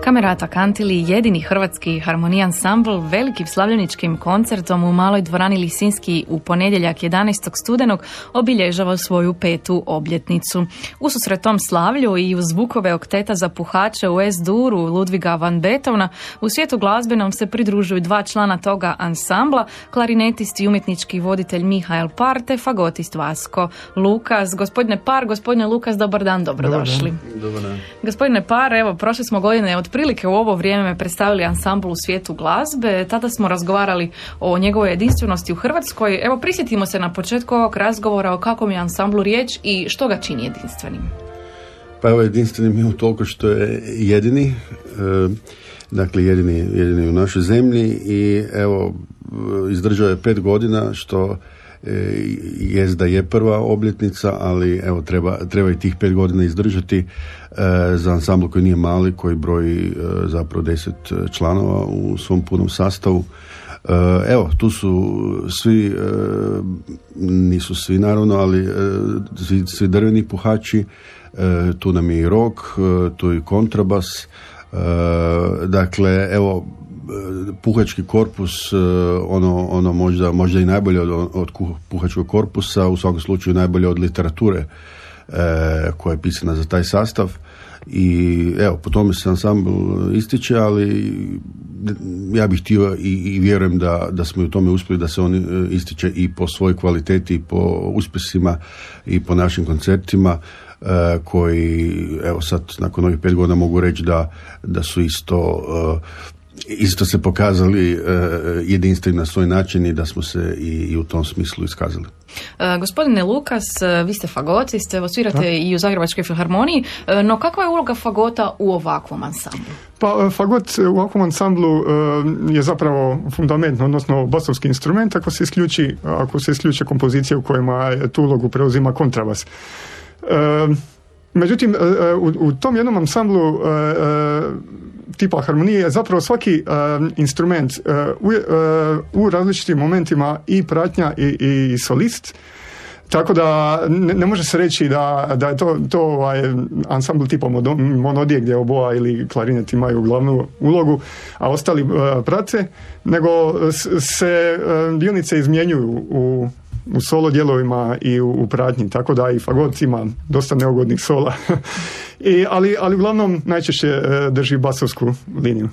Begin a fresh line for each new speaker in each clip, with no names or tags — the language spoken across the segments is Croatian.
Kamerata Kantili, jedini hrvatski harmonij ansambl, velikim slavljeničkim koncertom u maloj dvorani Lisinski u ponedjeljak 11. studenog obilježava svoju 5. obljetnicu. Ususret tom slavlju i uz zvukove okteta za puhače u S-duru Ludviga van Beethovena, u svijetu glazbenom se pridružuju 2 člana toga ansambla, klarinetist i umjetnički voditelj Mihael Par te fagotist Vasko Lukas. Gospodine Par, gospodine Lukas, dobar dan, dobrodošli.
Dobar dan.
Gospodine Par, evo, prošle smo godine otprilike u ovo vrijeme predstavili ansambl u svijetu glazbe. Tada smo razgovarali o njegovoj jedinstvenosti u Hrvatskoj. Evo, prisjetimo se na početku ovog razgovora o kakvom je ansamblu riječ i što ga čini jedinstvenim.
Pa evo, jedinstvenim je toliko što je jedini, dakle jedini u našoj zemlji i evo, izdržao je 5 godina, što jest da je prva obljetnica, ali evo treba i tih 5 godina izdržati za ansambl koji nije mali, koji broji zapravo 10 članova u svom punom sastavu. Evo, tu su svi, nisu svi naravno, ali svi drveni puhači, tu nam je i rock, tu je i kontrabas, dakle, evo, puhački korpus, ono možda i najbolje od puhačkog korpusa, u svakom slučaju najbolje od literature koja je pisana za taj sastav. I evo, po tome se ansambl ističe, ali ja bih htio i vjerujem da smo u tome uspjeli, da se on ističe i po svojoj kvaliteti, i po uspjesima, i po našim koncertima, koji, evo sad, nakon ovih 5 godina mogu reći da su isto se pokazali jedinstveni na svoj način i da smo se i u tom smislu iskazali.
Gospodine Lukas, vi ste fagotist, svirate i u Zagrebačkoj filharmoniji, no kakva je uloga fagota u ovakvom ansamblu?
Pa fagot u ovakvom ansamblu je zapravo fundament, odnosno basovski instrument, ako se isključi kompozicija u kojima tu ulogu preuzima kontrabas. Međutim, u tom jednom ansamblu tipa harmonije je zapravo svaki instrument u različitim momentima i pratnja i solist, tako da ne može se reći da je to ansambl tipa monodije gdje oboa ili klarinet imaju glavnu ulogu, a ostali prate, nego se dionice izmjenjuju u solo dijelovima i u pratnji, tako da i fagot ima dosta neugodnih sola. Ali uglavnom najčešće drži basovsku liniju.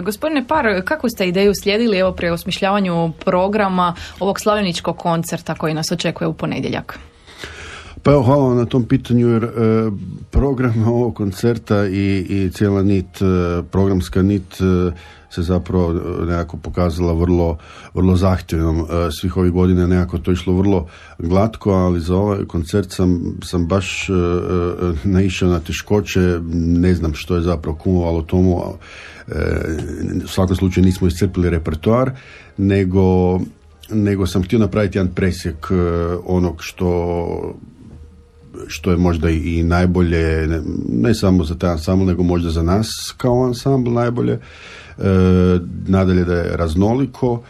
Gospodine Par, kakvu ste ideju slijedili evo pri osmišljavanju programa ovog slavljeničkog koncerta koji nas očekuje u ponedjeljak?
Pa evo, hvala vam na tom pitanju, jer program ovog koncerta i cijela programska nit se zapravo nekako pokazala vrlo zahtjevnom. Svih ovih godina nekako to išlo vrlo glatko, ali za ovaj koncert sam baš naišao na teškoće, ne znam što je zapravo kumovalo tomu, u svakom slučaju nismo iscrpili repertoar, nego sam htio napraviti jedan presjek onog što je možda i najbolje, ne samo za taj ansambl, nego možda za nas kao ansambl najbolje. Nadalje da je raznoliko,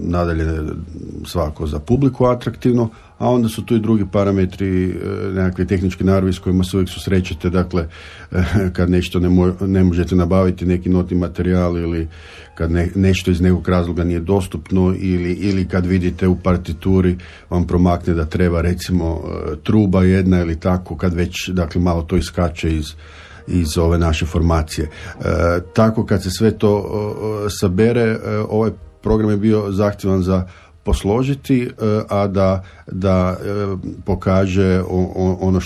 nadalje svako za publiku atraktivno, a onda su tu i drugi parametri, nekakve tehničke naravi s kojima se uvijek susrećete, dakle kad nešto ne možete nabaviti, neki notni materijal, ili kad nešto iz nekog razloga nije dostupno, ili kad vidite u partituri vam promakne da treba recimo truba jedna ili tako, kad već dakle malo to iskače iz ove naše formacije. Tako kad se sve to sabere, ovaj program je bio zahtjevan za posložiti, a da pokaže ono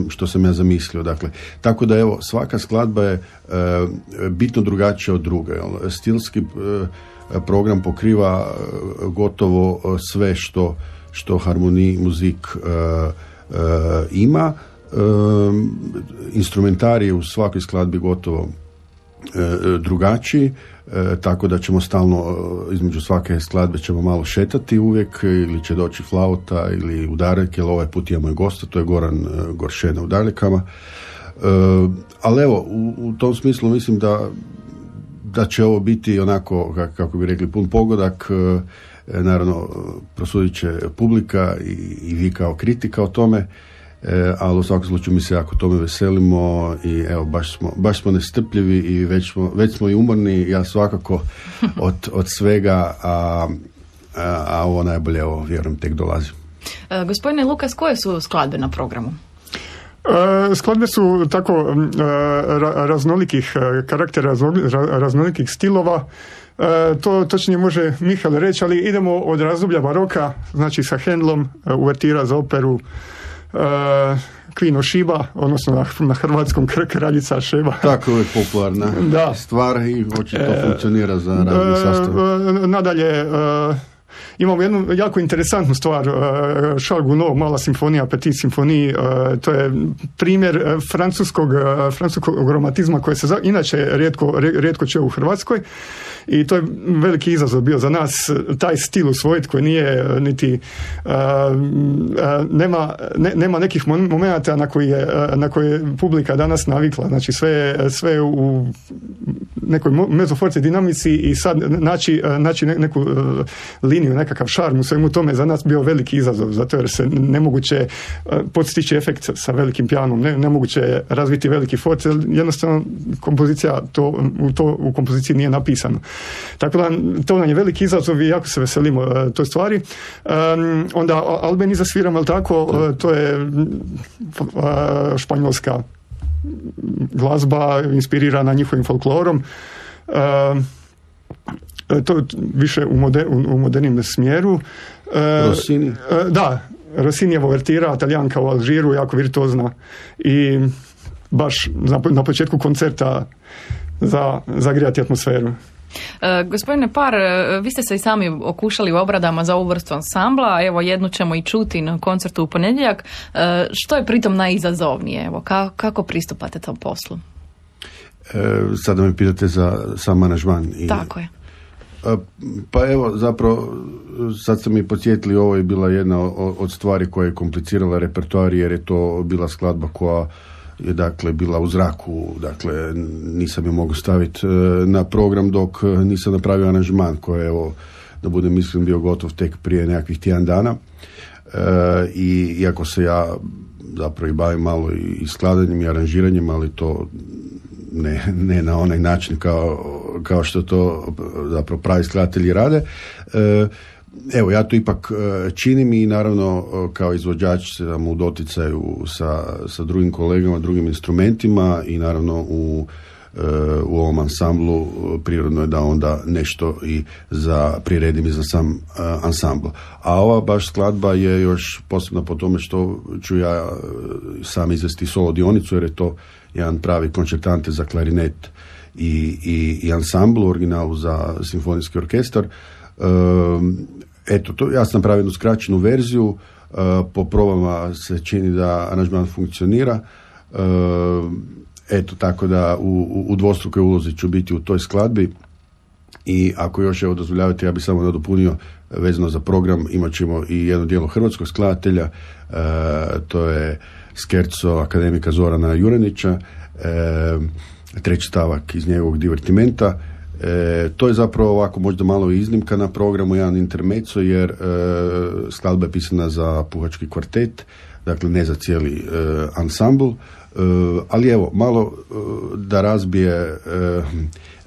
što sam ja zamislio. Dakle, tako da evo, svaka skladba je bitno drugačija od druge. Stilski program pokriva gotovo sve što harmonij muzik ima. Instrumentarij je u svakoj skladbi gotovo drugačiji, tako da ćemo stalno između svake skladbe ćemo malo šetati uvijek, ili će doći flauta ili udarljke, ali ovaj put imamo i gosta, to je Goran Goršena u udarljkama. Ali evo, u tom smislu mislim da će ovo biti onako, kako bi rekli, pun pogodak. Naravno, prosudit će publika i vi kao kritika o tome. ali u svakom slučaju mi se jako tome veselimo i evo, baš smo nestrpljivi i već smo i umorni, ja svakako od svega, a ovo najbolje, evo, vjerujem, tek dolazi.
Gospodine Lukas, koje su skladbe na programu?
Skladbe su tako raznolikih karaktera, raznolikih stilova. To točnije može Mihael reći, ali idemo od razdoblja baroka, znači sa Handelom, uvertira za operu Queen of Sheba, odnosno na hrvatskom Kraljica Šeba.
Tako je popularna stvar i očito funkcionira za razne sastave.
Nadalje, imamo jednu jako interesantnu stvar, Charles Gounod, Mala simfonija, Petit simfonije, to je primjer francuskog romantizma koje se inače rijetko čuje u Hrvatskoj i to je veliki izazov bio za nas, taj stil usvojiti koji nije niti nema nekih momenata na koje je publika danas navikla, znači sve u nekoj mezoforci dinamici i sad naći neku liniju, nekakav šarm u svemu tome za nas bio veliki izazov, zato jer se nemoguće postići efekt sa velikim pijanom, nemoguće razviti veliki force, jednostavno kompozicija u kompoziciji nije napisano. Tako da to nam je veliki izazov i jako se veselimo toj stvari. Onda Albeniza sviramo, ali tako, to je španjolska glazba inspirirana njihovim folklorom. To je više u modernim smjeru.
Rossini?
Da, Rossinijevo uvertira, Talijanka u Alžiru, jako virtuozna i baš na početku koncerta zagrijati atmosferu.
Gospodine Par, vi ste se i sami okušali u obradama za ovu vrstu ansambla, evo jednu ćemo i čuti na koncertu u ponedjeljak. Što je pritom najizazovnije? Evo, kako pristupate tom poslu?
Sada me pitate za sam aranžman.
Tako je.
Pa evo, zapravo, sad ste mi podsjetili, ovo je bila jedna od stvari koja je komplicirala repertoar, jer je to bila skladba koja je, dakle, bila u zraku, dakle, nisam je mogao staviti na program dok nisam napravio aranžman koji je, evo, da budem iskren, bio gotov tek prije nekakvih tjedan dana. I iako se ja zapravo i bavim malo i skladanjem i aranžiranjem, ali to ne na onaj način kao što to zapravo pravi skladatelji rade. Evo, ja to ipak činim i naravno kao izvođač sam u doticaju sa drugim kolegama, drugim instrumentima i naravno u ovom ansamblu prirodno je da onda nešto i priredim i za sam ansambl. A ova baš skladba je još posebno po tome što ću ja sam izvesti solo dionicu, jer je to jedan pravi koncertante za klarinet i ansambl u originalu za simfonijski orkestar. Eto, ja sam napravio jednu skraćenu verziju, po probama se čini da aranžman funkcionira. Eto, tako da u dvostrukoj ulozi ću biti u toj skladbi i ako još evo dozvoljavate, ja bih samo nadopunio vezano za program, imat ćemo i jedno dijelo hrvatskog skladatelja, to je skerco akademika Zorana Juranića, treći stavak iz njegovog divertimenta. To je zapravo ovako možda malo iznimka na programu, jedan intermezzo, jer skladba je pisana za puhački kvartet, dakle ne za cijeli ansambl, ali evo, malo da razbije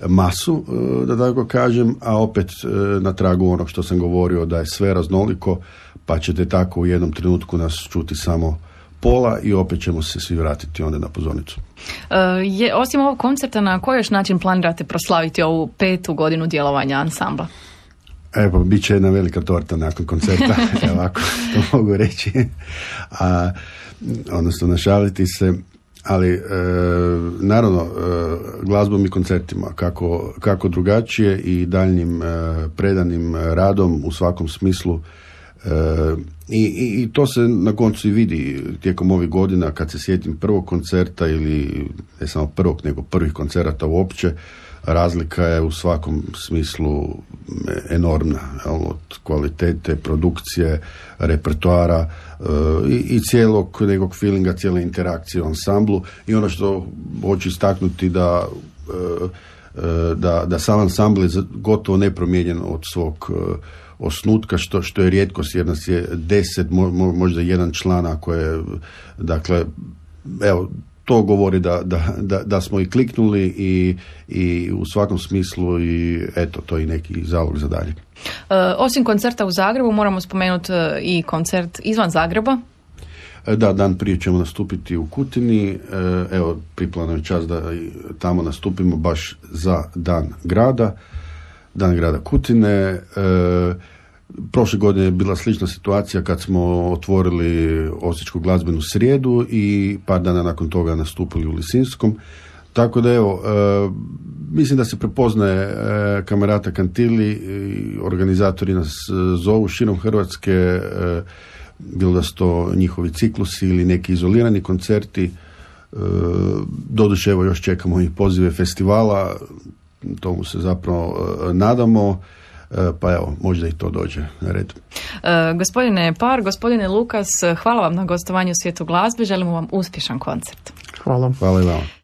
masu, da tako kažem, a opet na tragu onog što sam govorio, da je sve raznoliko, pa ćete tako u jednom trenutku nas čuti samo pola i opet ćemo se svi vratiti onda na pozornicu.
Osim ovog koncerta, na koji još način planirate proslaviti ovu 5. godinu djelovanja ansambla?
Evo, bit će jedna velika torta nakon koncerta, ovako to mogu reći, odnosno našaliti se, ali naravno glazbom i koncertima, kako drugačije i daljnjim predanim radom u svakom smislu. I to se na koncu i vidi tijekom ovih godina, kad se sjetim prvog koncerta ili ne samo prvog, nego prvih koncerata uopće, razlika je u svakom smislu enormna, od kvalitete, produkcije, repertoara i cijelog nekog feelinga, cijele interakcije u ansamblu. I ono što hoću istaknuti da sam ansambl je gotovo nepromijenjen od osnutka, što je rijetkost, jer nas je 10, možda jedan član, ako je, dakle, evo, to govori da smo i kliknuli i u svakom smislu i eto, to je neki zalog za dalje.
Osim koncerta u Zagrebu, moramo spomenuti i koncert izvan Zagreba.
Da, dan prije ćemo nastupiti u Kutini, evo, pripala nam je čast da tamo nastupimo baš za Dan grada Kutine. Prošle godine je bila slična situacija kad smo otvorili Osječku glazbenu srijedu i par dana nakon toga nastupili u Lisinskom. Tako da evo, mislim da se prepoznaje Kamerata Kantili i organizatori nas zovu širom Hrvatske, bilo da su to njihovi ciklusi ili neki izolirani koncerti. Doduše, evo, još čekamo i pozive festivala, tomu se zapravo nadamo. Pa evo, možda i to dođe na red.
Gospodine Par, gospodine Lukas, hvala vam na gostovanju u Svijetu glazbe, želimo vam uspješan koncert.
Hvala.
Hvala i vama.